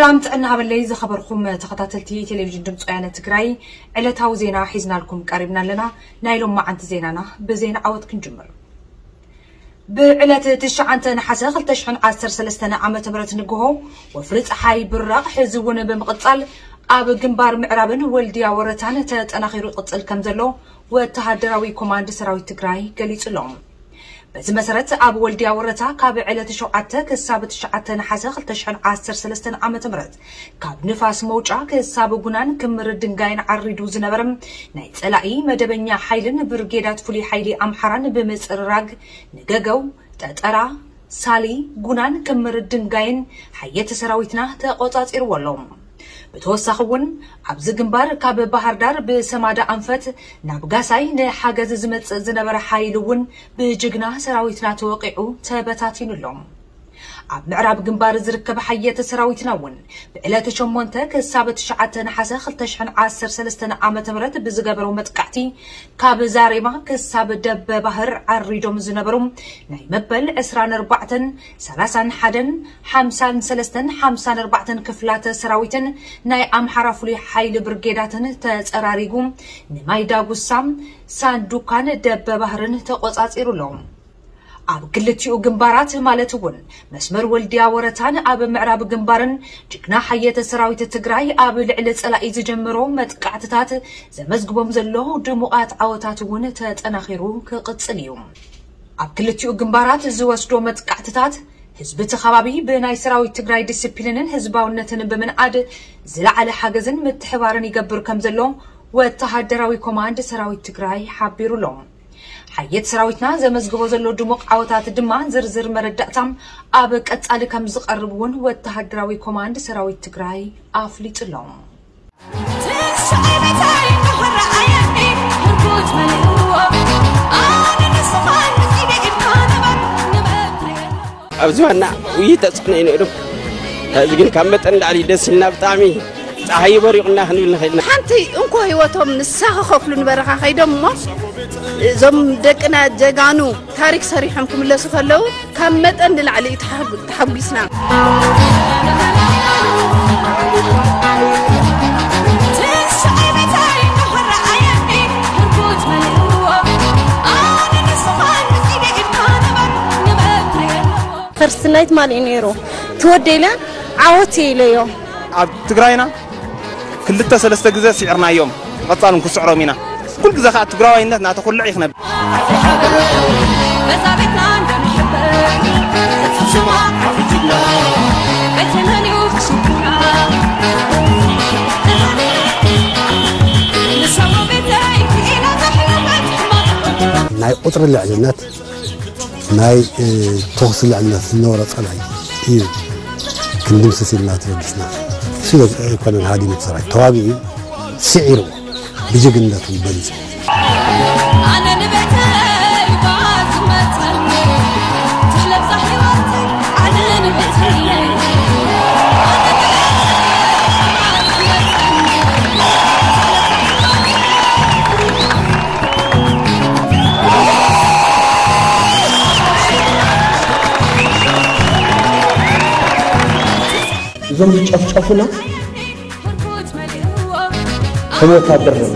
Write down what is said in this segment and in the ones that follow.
ሰላም ጥዕና ሃበለይ ዝኸበርኩም ተኸታተልቲ ቴሌቪዥን ድምፂ ወያነ ትግራይ፣ ዕለታዊ ዜና ሒዝናልኩም ቀሪብና ኣለና። ናይ ሎማዓንቲ ዜናና ብዜና ዓወት ክንጅምር። ብዕለት ትሽዓተ ነሓሰ ክልተ ሽሕን ዓሰርተ ሰለስተን ዓመተ ምህረት ንግሆ ወፍሪ ፀሓይ ብራቕ ሕዚ እውን ብምቕፃል ኣብ ግንባር ምዕራብን ወልድያ ወረታን ተጠናኺሩ ይቕፅል ከም ዘሎ ወተሃደራዊ ኮማንድ ሰራዊት ትግራይ ገሊፁ ኣሎ። በዚ መሰረት ኣብ ወልድያ ወረታ ካብ ዕለት ሸውዓተ ክሳብ ትሽዓተ ነሓሰ ክልተ ሽሕን ዓሰርተ ሰለስተን ዓመተ ምህረት ካብ ንፋስ መውጫ ክሳብ ጉናን ክምር ድንጋይን ዓሪዱ ዝነበረ ናይ ጸላኢ መደበኛ ሓይልን ብርጌዳት ፍሉይ ሓይሊ ኣምሓራን ብምጽርራግ ንገገው፣ ጠጠራ፣ ሳሊ፣ ጉናን ክምር ድንጋይን ሓየት ሰራዊትና ተቆጻጺርዎ ኣሎ። ብተወሳኺ እውን ኣብዚ ግንባር ካብ ባህር ዳር ብሰማዳ ኣንፈት ናብ ጋሳይ ንሓገዝ ዝመጽእ ዝነበረ ሓይሊ እውን ብጅግና ሰራዊትና ተወቂዑ ተበታቲኑ ኣሎ። ኣብ ምዕራብ ግንባር ዝርከብ ሓየት ሰራዊትና እውን ብዕለት ሸሞንተ ክሳብ ትሽዓተ ነሓሰ ክልተ ሽሕን ዓሰርተ ሰለስተን ዓመተ ምህረት ብዝገበረው መጥቃዕቲ ካብ ዛሬማ ክሳብ ደበ ባህር ዓሪዶም ዝነበሩ ናይ መበል ዕስራን ኣርባዕተን፣ ሰላሳን ሓደን፣ ሓምሳን ሰለስተን፣ ሓምሳን ኣርባዕተን ክፍላተ ሰራዊትን ናይ ኣምሓራ ፍሉይ ሓይሊ ብርጌዳትን ተጸራሪጉ ንማይ ዳጉሳ፣ ሳንዱካን ደበ ባህርን ተቆጻጺሩ ኣሎ። ኣብ ክልቲኡ ግንባራት ማለት እውን መስመር ወልድያ ወረታን ኣብ ምዕራብ ግንባርን ጅግና ሓየተ ሰራዊት ትግራይ ኣብ ልዕሊ ጸላኢ ዝጀመሮ መጥቃዕትታት ዘመዝግቦም ዘሎ ድሙቓት ዓወታት እውን ተጠናኺሩ ክቕጽል እዩ። ኣብ ክልቲኡ ግንባራት ዝወስዶ መጥቃዕትታት ህዝቢ እቲ ከባቢ ብናይ ሰራዊት ትግራይ ዲስፕሊንን ህዝባውነትን ብምንኣድ ዝለዓለ ሓገዝን ምትሕባርን ይገብር ከም ዘሎ ወተሃደራዊ ኮማንድ ሰራዊት ትግራይ ሓቢሩ ኣሎ። ሓየት ሰራዊትና ዘመዝግቦ ዘሎ ድሙቕ ዓወታት ድማ ዝርዝር መረዳእታ ኣብ ቀጻሊ ከም ዝቐርብ እውን ወተሃደራዊ ኮማንድ ሰራዊት ትግራይ ኣፍሊጡ ኣሎ። ኣብዚ ዋና ውይይት ተጽዕኖ እዩ ነይሩ። ሕዚ ግን ካብ መጠን ላዕሊ ደስ ኢልና፣ ብጣዕሚ ፀሓይ በሪቑና ክንብል ንኽእል ኢና። ሓንቲ እንኮ ህይወቶም ንሳ ክኸፍሉ ንበረኻ ከይዶም እሞ፣ እዞም ደቅና ጀጋኑ ታሪክ ሰሪሖም ክምለሱ ከለዉ ካብ መጠን ንላዕሊ እዩ ተሓጉ-፣ ተሓጒስና። ፈርስት ናይት ማን እዩ ነይሩ? ትወደለ ዓወት ኢለዮ። ኣብ ትግራይና ክልተ ሰለስተ ግዜ ስዒርናዮም፣ ቀጻሉን ክስዕሮም ኢና። ኩሉ ግዜ ከዓ ትግራዋይነት እናተኹልዕ እዩ ክነብር። ናይ ቁፅሪ ልዕልነት፣ ናይ፣ እ፣ ተኹሲ ልዕልነት ዝነበሮ ጸላኢ እዩ ክንድምስስ ኢልና ተበጊስና። እሱ ኣይኮነን ሃዲሙ እቲ ሰራዊት፣ ተዋጊኡ፣ ስዒሩ፣ ብጅግንነቱ በሊጹ። ኣነ ንቤተይ እባ ዝመጸኒ፣ ትለብሳ ህይወተይ፣ ኣነ ንቤተይ። እዞም ዝጨፍጨፉና ከም ወታደር ነው።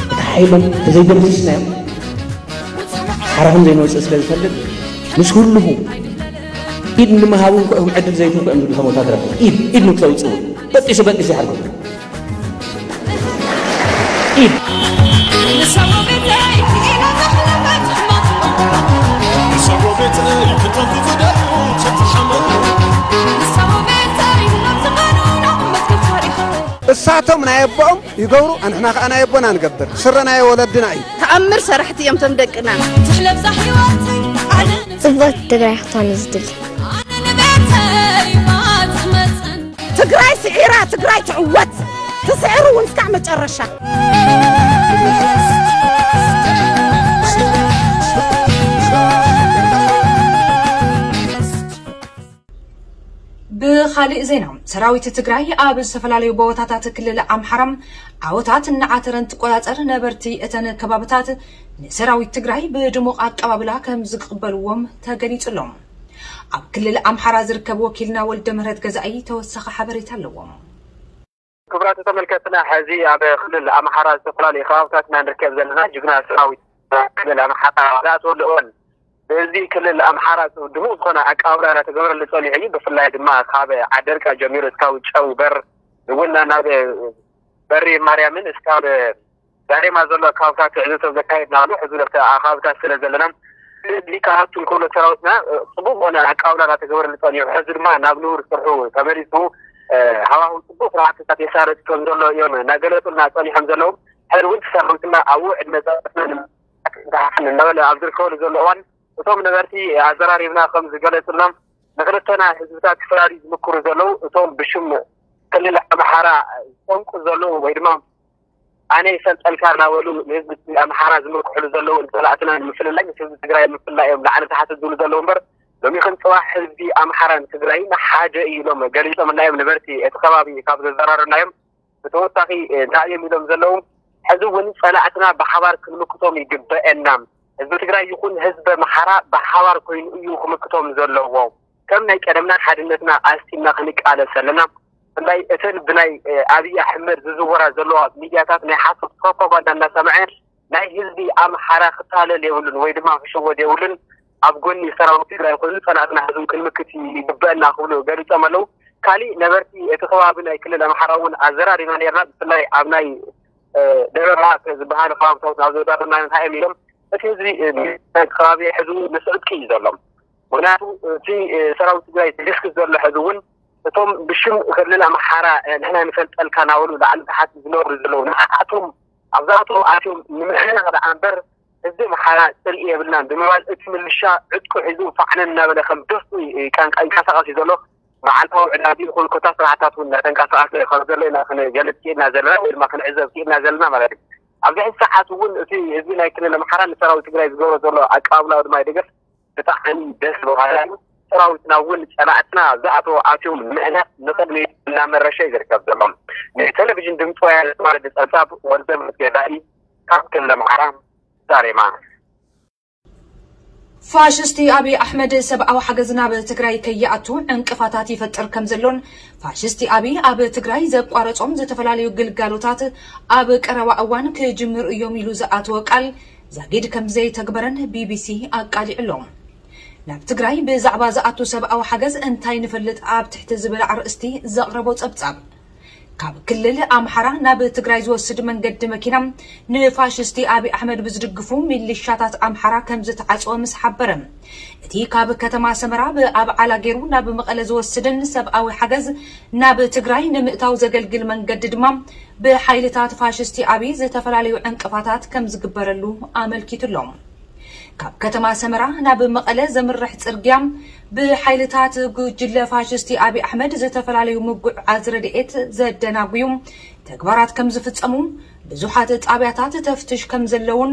እቲ ሓይሎም ተዘይደምሲስናዮም ሓራኹም ዘይንወፅእ ስለ ዝፈልጥ ምስ ህልኹ ኢድ ንምሃቡ እንኳ እዮም ዕድል ዘይትንኩ እዮም ዝብሉ። ከም ወታደር ኢድ ኢድ ንክተውፅኡ በጢሱ በጢሱ ይሓርኩም። ኢድ እሳቶም ናይ ኣቦኦም ይገብሩ፣ ኣንሕና ከዓ ናይ ኣቦና ንገብር። ስረ ናይ ወለድና እዩ። ተኣምር ሰራሕቲ እዮም እቶም ደቅና። ትሕለብዛ ህይወተይ ኣነ ጽብቕቲ ትግራይ ክትኮን እዩ ዝድሊ። ኣነ ንቤተይ ማትመጸን። ትግራይ ስዒራ፣ ትግራይ ትዕወት። ትስዕር እውን እስካዕ መጨረሻ። ብኻሊእ ዜና፣ ሰራዊት ትግራይ ኣብ ዝተፈላለዩ ቦታታት ክልል ኣምሓራ ዓወታት እናዓተረ እንትቆጻጸር፣ ነበርቲ እተን ከባብታት ንሰራዊት ትግራይ ብድሙቕ ኣቀባብላ ከም ዝቕበልዎም ተገሊጹ ኣሎ። ኣብ ክልል ኣምሓራ ዝርከብ ወኪልና ወልደ ምህረት ገዛኢ ተወሳኺ ሓበሬታ ኣለዎም። ክቡራት ተመልከትና፣ ሕዚ ኣብ ክልል ኣምሓራ ዝተፈላለዩ ከባብታትና ንርከብ ዘለና ጅግና ሰራዊት ክልል ኣምሓራ ዝኣተወሉ እዋን፣ በዚ ክልል ኣምሓራ ድሙቕ ዝኾነ ኣቀባብላ እናተገበረሉ ጸኒሑ እዩ። ብፍላይ ድማ ካብ ዓደርቃ ጀሚሩ እስካብ ጨንበር እውን ናብ በሪ ማርያምን እስካብ ዛሬማ ዘሎ ኣካባብታት ትዕዝብቶ ዘካየድና ኣሎ። ሕዚ ነቲ ኣኻብታት ስለ ዘለና ሊካሃቱ ንክብሎ ሰራዊትና ጽቡቅ ዝኾነ ኣቀባብላ እናተገበረሉ ጸኒሑ፣ ሕዚ ድማ ናብ ንቡር ስርሑ ተመሊሱ ሃዋህው ጽቡቅ ስራሕትታት የሳረጥ ከም ዘሎ እዮም እናገለጹልና ጸኒሖም ዘለዉ። ሕዚ እውን ሰራዊትና ኣብኡ ዕድመ ጸጥታን እናበለ ኣብ ዝርከበሉ ዘሎ እዋን፣ እቶም ነበርቲ ኣዘራሪብና ከም ዝገለጹልና፣ ንክልተና ህዝብታት ክፈላልዩ ዝምክሩ ዘለዉ እቶም ብሽም ክልል ኣምሓራ ዝጠንቁ ዘለዉ ወይ ድማ ኣነ ይፈልጠልካ እናበሉ ንህዝቢ ኣምሓራ ዝምክሕሉ ዘለዉ፣ ንፀላእትና ንምፍልላይ ምስ ህዝቢ ትግራይ ንምፍልላይ እዮም ላዕሊ ታሕቲ ዝብሉ ዘለዉ እምበር፣ ሎሚኽን ፅባሕ ህዝቢ ኣምሓራን ትግራይን ሓደ እዩ ኢሎም ገሊፆምልና እዮም ነበርቲ እቲ ከባቢ ካብ ዘዘራረብናዮም። ብተወሳኺ እንታይ እዮም ኢሎም ዘለዉ? ሕዚ እውን ፀላእትና ብሓባር ክንምክቶም ይግበአና። ህዝቢ ትግራይ ይኹን ህዝቢ ኣምሓራ ብሓባር ኮይኑ እዩ ክምክቶም ዘለዎ። ከም ናይ ቀደምና ሓድነትና ኣስቲና ክንቃለስ ኣለና። ብፍላይ እተን ብናይ ኣብይ ኣሕመድ ዝዝወራ ዘለዋ ሚድያታት ናይ ሓሶት ፕሮፓጋንዳ እናሰምዐ ናይ ህዝቢ ኣምሓራ ክታለል የብሉን ወይ ድማ ክሽወድ የብሉን። ኣብ ጎኒ ሰራዊት ትግራይ ኮይኑ ፀላእትና ሕዚ ክንምክት ይግበአና ክብሉ ገሊፆም ኣለዉ። ካሊእ ነበርቲ እቲ ከባቢ ናይ ክልል ኣምሓራ እውን ኣዘራሪብና ነርና። ብፍላይ ኣብ ናይ ደብረ ብርሃን ዝበሃል ከባብታት ናብ ዘዳርና እንታይ እዮም ኢሎም እቲ ህዝቢ ከባቢ ሕዚ እውን ምስ ዕጥቂ እዩ ዘሎ። ምክንያቱ እቲ ሰራዊት ትግራይ ዝድስክስ ዘሎ ሕዚ እውን እቶም ብሽም ክልል ኣምሓራ ንሕና ንፈልጠልካ እናበሉ ላዕሊ ታሕቲ ዝነብሩ ዘለዉ ንዓኣቶም ኣብዛቶም ኣትዮም ንምሕናቕ ደኣ እምበር ህዝቢ ኣምሓራ ፅልኢ የብልናን ብምባል እቲ ምልሻ ዕጥቁ ሒዙ ፋዕነን እናበለ ከም ደስቱ ይንቀሳቐስ እዩ ዘሎ። መዓልታዊ ዕዳጊ ይኹን ኮታ ስራሕታት እውን እናተንቀሳቐሰ ከም ዘሎ ኢና ክንገልፅ ክኢልና ዘለና ወይ ድማ ክንዕዘብ ክኢልና ዘለና ማለት እዩ። ኣብዚ ሕዚ ሰዓት እውን እቲ ህዝቢ ናይ ክልል ኣምሓራ ንሰራዊት ትግራይ ዝገብሮ ዘሎ ኣቀባብላዊ ድማ ይደገፍ ብጣዕሚ ደስ በሃሊ እዩ። ሰራዊትና እውን ፀላእትና ዝኣተዎ ኣትዮም ምእነት ንቕድሚት እናመረሸ እዩ ዝርከብ ዘሎ። ንቴሌቪዥን ድምፂ ወያነ ተዋረደ ፀብፃብ ወልደ መስገዳኢ ካብ ክልል ኣምሓራ ዛሬማ። ፋሽስቲ ኣብይ ኣሕመድ ሰብኣዊ ሓገዝ ናብ ትግራይ ከይኣቱ ዕንቅፋታት ይፈጥር ከም ዘሎን ፋሽስቲ ኣብይ ኣብ ትግራይ ዘቋረጾም ዝተፈላለዩ ግልጋሎታት ኣብ ቀረባ እዋን ክጅምሩ እዮም ኢሉ ዝኣተወ ቃል ዛጊድ ከም ዘይተግበረን ቢቢሲ ኣቃሊዑ ኣሎ። ናብ ትግራይ ብዛዕባ ዝኣቱ ሰብኣዊ ሓገዝ እንታይ ንፈልጥ ኣብ ትሕቲ ዝብል ኣርእስቲ ዘቕረቦ ጸብጻብ ካብ ክልል ኣምሓራ ናብ ትግራይ ዝወስድ መንገዲ መኪና ንፋሽስቲ ኣብይ ኣሕመድ ብዝድግፉ ሚሊሻታት ኣምሓራ ከም ዝተዓፀወ ምስ ሓበረ፣ እቲ ካብ ከተማ ሰመራ ብኣብዓላ ገይሩ ናብ መቐለ ዝወስድን ሰብኣዊ ሓገዝ ናብ ትግራይ ንምእታው ዘገልግል መንገዲ ድማ ብሓይልታት ፋሽስቲ ኣብይ ዝተፈላለዩ ዕንቅፋታት ከም ዝግበረሉ ኣመልኪቱ ኣሎ። ካብ ከተማ ሰመራ ናብ መቐለ ዘምርሕ ጽርግያ ብሓይልታት ጉጅለ ፋሽስቲ ኣብይ ኣሕመድ ዝተፈላለዩ ምጉዕዓዝ ረድኤት ዘደናጉዩ ተግባራት ከም ዝፍጸሙ፣ ብዙሓት ጣብያታት ተፍትሽ ከም ዘለውን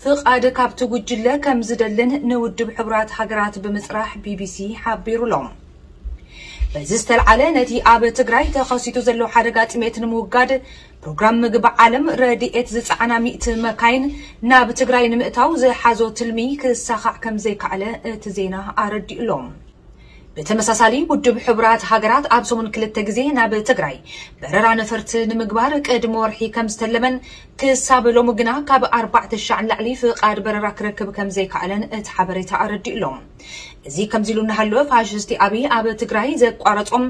ፍቓድ ካብቲ ጉጅለ ከም ዝደልን ንውድብ ሕቡራት ሃገራት ብምጽራሕ ቢቢሲ ሓቢሩ ኣሎ። በዚ ዝተልዓለ ነቲ ኣብ ትግራይ ተኸሲቱ ዘሎ ሓደጋ ጥሜት ንምውጋድ ፕሮግራም ምግቢ ዓለም ረድኤት ዝጸዓና ሚእቲ መካይን ናብ ትግራይ ንምእታው ዝሓዞ ትልሚ ክሳኻዕ ከም ዘይከኣለ እቲ ዜና ኣረዲኡ ኣሎ። ብተመሳሳሊ ውድብ ሕቡራት ሃገራት ኣብ ሰሙን ክልተ ግዜ ናብ ትግራይ በረራ ነፈርቲ ንምግባር ቅድሚ ወርሒ ከም ዝተለመን ክሳብ ሎሚ ግና ካብ ኣርባዕተ ሻዕ ንላዕሊ ፍቓድ በረራ ክረክብ ከም ዘይከኣለን እቲ ሓበሬታ ኣረዲኡ ኣሎ። እዚ ከምዚ ኢሉ እናሃለወ ፋሽስቲ ኣብይ ኣብ ትግራይ ዘቋረጾም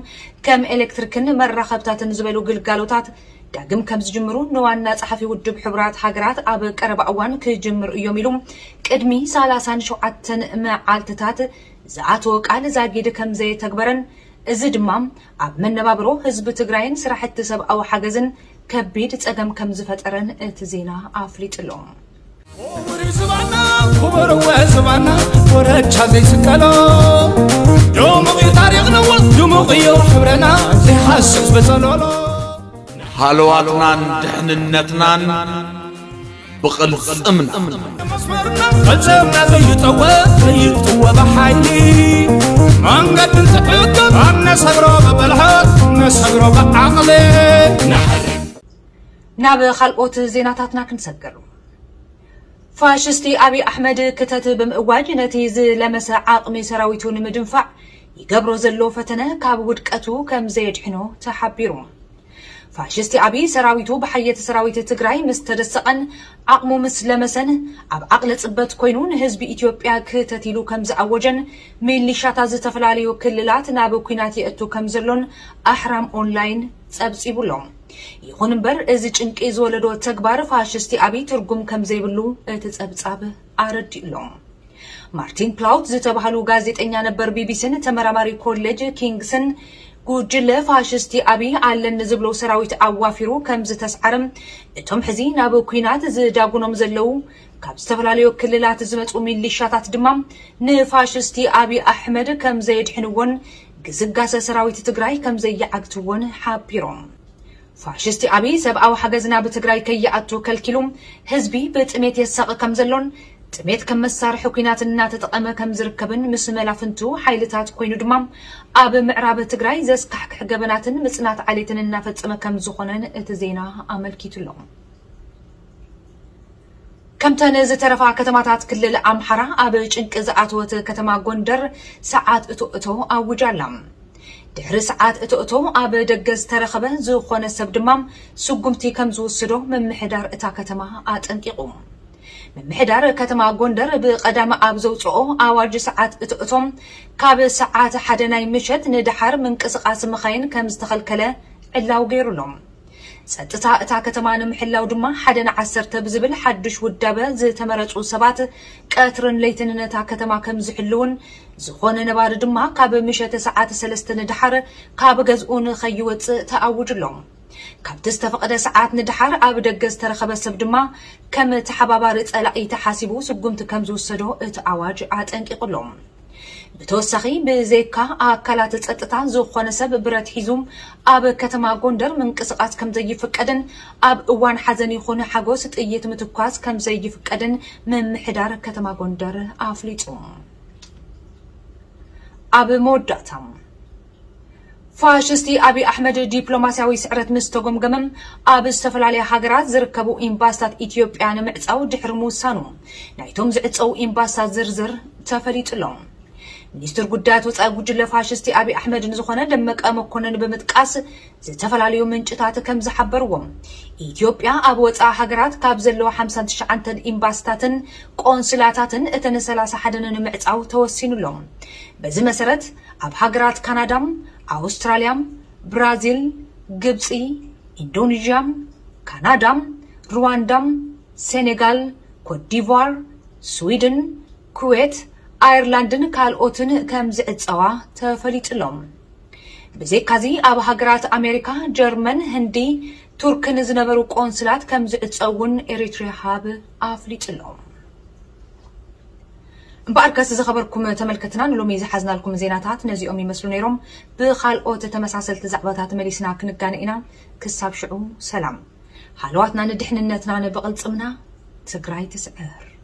ከም ኤሌክትሪክን መራኸብታትን ዝበሉ ግልጋሎታት ዳግም ከም ዝጅምሩ ንዋና ጸሓፊ ውድብ ሕቡራት ሃገራት ኣብ ቀረባ እዋን ክጅምሩ እዮም ኢሉ ቅድሚ ሰላሳን ሸውዓተን መዓልትታት ዝኣተወ ቃል ዛጊድ ከም ዘየተግበረን እዚ ድማ ኣብ መነባብሮ ህዝቢ ትግራይን ስራሕቲ ሰብኣዊ ሓገዝን ከቢድ ጸገም ከም ዝፈጠረን እቲ ዜና ኣፍሊጡ ኣሎ። ክቡር ዝባና ክቡር ወ ዝባና ኮረቻ ዘይስቀሎ ድሙቕ እዩ ታሪኽና ድሙቕ እዩ ሕብረና ዘይሃስስ በጸሎሎ ሃለዋትናን ድሕንነትናን ብቕልጽምና መስመርና ፈጸምና ዘይጠወ ዘይጥወ ብሓይሊ መንገዲ እንትሕግር ኣነሰግሮ ብብልሓት ነሰግሮ ብዓቕሊ ንሕሪ ናብ ካልኦት ዜናታትና ክንሰግር። ፋሽስቲ ኣብይ ኣሕመድ ክተት ብምእዋጅ ነቲ ዝለመሰ ዓቕሚ ሰራዊቱ ንምድንፋዕ ይገብሮ ዘሎ ፈተነ ካብ ውድቀቱ ከም ዘየድሕኖ ተሓቢሩ። ፋሽስቲ ኣብይ ሰራዊቱ ብሓየት ሰራዊት ትግራይ ምስ ተደሰቐን ዓቕሙ ምስ ለመሰን፣ ኣብ ዓቕሊ ጽበት ኮይኑ ንህዝቢ ኢትዮጵያ ክተት ኢሉ ከም ዝኣወጀን፣ ሚሊሻታት ዝተፈላለዩ ክልላት ናብ ኲናት የእቱ ከም ዘሎን ኣሕራም ኦንላይን ጸብጺቡ ኣሎ። ይኹን እምበር፣ እዚ ጭንቂ ዝወለዶ ተግባር ፋሽስቲ ኣብይ ትርጉም ከም ዘይብሉ እቲ ጸብጻብ ኣረዲኡ ኣሎ። ማርቲን ፕላውት ዝተባህሉ ጋዜጠኛ ነበር ቢቢሲን ተመራማሪ ኮሌጅ ኪንግስን፣ ጉጅለ ፋሽስቲ ኣብይ ኣለኒ ዝብሎ ሰራዊት ኣዋፊሩ ከም ዝተስዓረ፣ እቶም ሕዚ ናብ ኲናት ዝዳጉኖም ዘለዉ ካብ ዝተፈላለዩ ክልላት ዝመጹ ሚሊሻታት ድማ ንፋሽስቲ ኣብይ ኣሕመድ ከም ዘየድሕንዎን ግስጋሰ ሰራዊት ትግራይ ከም ዘይዓግትዎን ሓቢሮም። ፋሽስቲ ኣብይ ሰብኣዊ ሓገዝ ናብ ትግራይ ከይኣቱ ከልኪሉ ህዝቢ ብጥሜት የሳቒ ከም ዘሎን ጥሜት ከም መሳርሒ ኲናት እናተጠቐመ ከም ዝርከብን ምስ መላፍንቱ ሓይልታት ኮይኑ ድማ ኣብ ምዕራብ ትግራይ ዘስካሕክሕ ገበናትን ምጽናት ዓሌትን እናፈጸመ ከም ዝኾነን እቲ ዜና ኣመልኪቱ ኣሎ። ከምተን ዝተረፋ ከተማታት ክልል ኣምሓራ ኣብ ጭንቂ ዝኣተወት ከተማ ጎንደር ሰዓት እቶ እቶ ኣውጃ ኣላ። ድሕሪ ሰዓት እቶ እቶ ኣብ ደገ ዝተረኸበ ዝኾነ ሰብ ድማ ስጉምቲ ከም ዝውስዶ ምምሕዳር እታ ከተማ ኣጠንቂቑ። ምምሕዳር ከተማ ጎንደር ብቐዳሚ ኣብ ዘውፅኦ ኣዋጅ ሰዓት እቶ እቶ ካብ ሰዓት ሓደ ናይ ምሸት ንደሓር ምንቅስቓስ መኻይን ከም ዝተኸልከለ ዕላው ገይሩ ኣሎ። ጸጥታ እታ ከተማ ንምሕላው ድማ ሓደ ንዓሰርተ ብዝብል ሓድሽ ውዳበ ዝተመረጹ ሰባት ቀትርን ለይትን ነታ ከተማ ከም ዝሕልውን፣ ዝኾነ ነባሪ ድማ ካብ ምሸት ሰዓት ሰለስተ ንደሓር ካብ ገዝኡ ንኸይወጽእ ተኣውጁ ኣሎ። ካብቲ ዝተፈቐደ ሰዓት ንደሓር ኣብ ደገ ዝተረኸበ ሰብ ድማ ከም ተሓባባሪ ጸላኢ ተሓሲቡ ስጉምቲ ከም ዝውሰዶ እቲ ኣዋጅ ኣጠንቂቑ ኣሎ። ብተወሳኺ ብዘይካ ኣካላት ጸጥታ ዝኾነ ሰብ ብረት ሒዙ ኣብ ከተማ ጎንደር ምንቅስቓስ ከም ዘይፍቀድን ኣብ እዋን ሓዘን ይኹን ሓጎስ ጥይት ምትኳስ ከም ዘይፍቀድን ምምሕዳር ከተማ ጎንደር ኣፍሊጡ። ኣብ መወዳእታ ፋሽስቲ ኣብይ ኣሕመድ ዲፕሎማስያዊ ስዕረት ምስ ተጎምገመ፣ ኣብ ዝተፈላለያ ሃገራት ዝርከቡ ኤምባስታት ኢትዮጵያ ንምዕጻው ድሕሪ ምውሳኑ፣ ናይቶም ዝዕጸው ኤምባስታት ዝርዝር ተፈሊጡ ኣሎ። ሚኒስትር ጉዳያት ወጻኢ ጉጅለ ፋሽስቲ ኣብይ ኣሕመድ ንዝኾነ ደመቀ መኮነን ብምጥቃስ፣ ዝተፈላለዩ ምንጭታት ከም ዝሓበርዎ፣ ኢትዮጵያ ኣብ ወጻኢ ሃገራት ካብ ዘለዋ ሓምሳን ትሽዓተን ኤምባስታትን ቆንስላታትን እተን ሰላሳ ሓደን ንምዕጻው ተወሲኑ ኣሎ። በዚ መሰረት፣ ኣብ ሃገራት ካናዳም፣ ኣውስትራልያም፣ ብራዚል፣ ግብጺ፣ ኢንዶኔዥያም፣ ካናዳም፣ ሩዋንዳም፣ ሴኔጋል፣ ኮትዲቯር፣ ስዊድን፣ ኩዌት፣ ኣየርላንድን ካልኦትን ከም ዝዕጸዋ ተፈሊጡ ኣሎ። ብዘይካዚ ኣብ ሃገራት ኣሜሪካ፣ ጀርመን፣ ህንዲ፣ ቱርክን ዝነበሩ ቆንስላት ከም ዝዕጸው እውን ኤሪትሪያ ሃብ ኣፍሊጡ ኣሎ። እምበኣርከስ ዝኸበርኩም ተመልከትና ንሎሚ ዝሓዝናልኩም ዜናታት ነዚኦም ይመስሉ ነይሮም። ብኻልኦት ተመሳሰልቲ ዛዕባታት መሊስና ክንጋነ ኢና። ክሳብ ሽዑ ሰላም። ሃለዋትና ንድሕንነትና ንብቕልጽምና። ትግራይ ትስዕር።